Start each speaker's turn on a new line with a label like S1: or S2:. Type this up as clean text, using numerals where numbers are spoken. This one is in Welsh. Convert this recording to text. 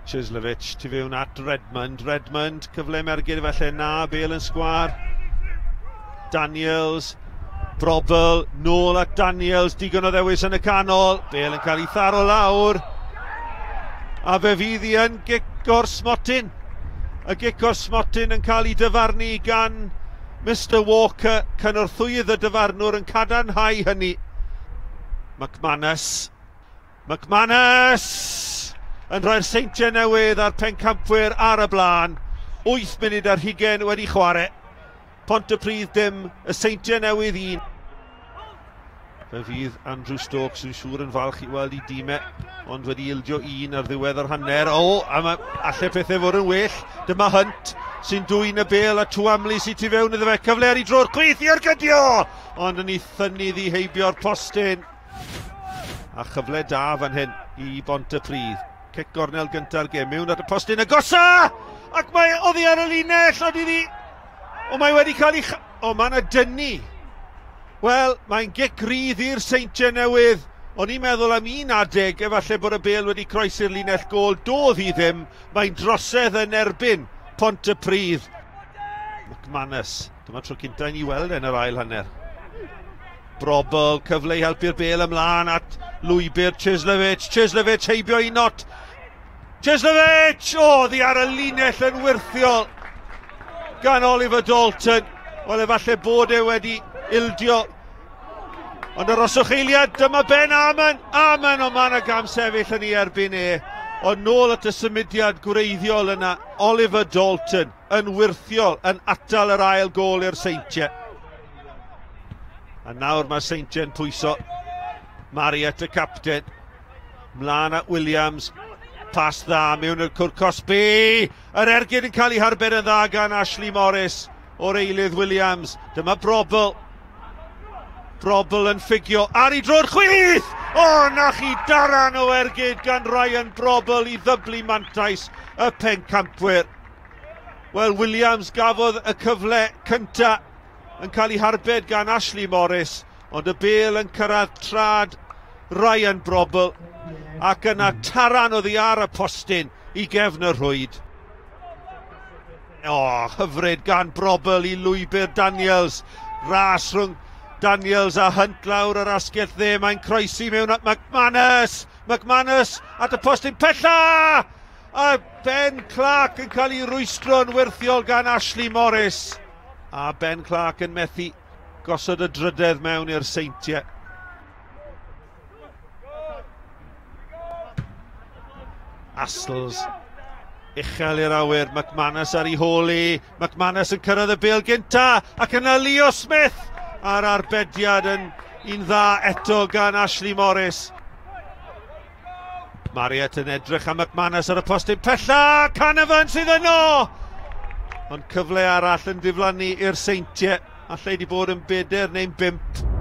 S1: Cieslewicz tu fewn at Redmond. Redmond, cyfle mergyd felly na, Bale yn sgwar. Daniels, Brobbel, nôl at Daniels, digon o ddewis yn y canol. Bale yn cael ei tharo lawr. A fe fydd hi yn gic o'r smotyn. Y gic o'r smotyn yn cael ei dyfarnu gan Mr Walker, cynorthwyydd y dyfarnwr yn cadarnhau hynny. McManus. McManus! Yn rhoi'r Seintiau Newydd a'r pencampwyr ar y blaen. 8 munud ar hugain wedi chwarae. Pontypridd dim, y Seintiau Newydd 1. Fe fydd Andrew Stokes yn siŵr yn falch i weld i dîmau, ond wedi ildio un ar ddiwedd yr hanner. O, a mae alle pethau fod yn well. Dyma Hunt sy'n dwyn y bêl a Twamley sy'n tu fewn iddo fe. Cyfle ar ei dro'r chwith i ergydio! Ond yn ei thynnu ddi heibio'r postyn. A chyfle da fan hyn i Bontypridd. Cic gornel gynta'r gêm mewn at y postyn agosa! Ac mae oddi ar y linell, ond iddi... O, mae wedi cael ei... O, mae yna dynnu. Wel, mae'n gic rydd i'r Seintiau Newydd. O'n i'n meddwl am un adeg, efallai bod y bêl wedi croesi'r linell gôl. Doedd hi ddim. Mae'n drosedd yn erbyn Pontypridd. McManus. Dyma tro cynta i ni weld yn yr ail hanner. Brobbel, cyfle i helpu'r bêl ymlaen at lwybr Cieslewicz. Cieslewicz heibio i not. Cieslewicz! O, ddi ar y linell yn wyrthiol gan Oliver Dalton. Wel, efallai bod e wedi ildio. Ond aroswch eiliad, dyma Ben Amon. Amon, o man y gam sefyll yn ei erbyn e. Ond nôl at y symudiad gwreiddiol yna, Oliver Dalton yn wyrthiol yn atal yr ail gôl i'r Seintiau. A nawr mae Seintiau'n pwyso. Marriott y capten. Mlaen at Williams. Pas dda mewn i'r cwrt cosbi. Yr ergyd yn cael ei harbed yn dda gan Ashley Morris o'r eilydd Williams. Dyma Brobbel. Brobbel yn ffugio ar ei dro'r chwith! O, na chi daran o ergyd gan Ryan Brobbel i ddyblu mantais y pencampwyr. Wel, Williams gafodd y cyfle cynta yn cael ei harbed gan Ashley Morris, ond y bêl yn cyrraedd trad Ryan Brobbel ac yna taran oddi ar y postyn i gefn y rhwyd. O, hyfryd gan Brobbel i lwybr Daniels. Ras rhwng Daniels a Hunt lawr yr asgell dde. Mae'n croesi mewn at McManus. McManus at y postyn pella! A Ben Clark yn cael ei rwystro'n wyrthiol gan Ashley Morris. A Ben Clark yn methu gosod y drydedd mewn i'r Seintiau. Astles. Uchel i'r awyr, McManus ar ei hôl i. McManus yn cyrraedd y bêl gynta, ac yna Leo Smith a'r arbediad yn un dda eto gan Ashley Morris. Marriott yn edrych am McManus ar y postyn pella, Canavan sydd yno! Ond cyfle arall yn diflannu i'r Seintiau, allai wedi bod yn 4 neu'n 5.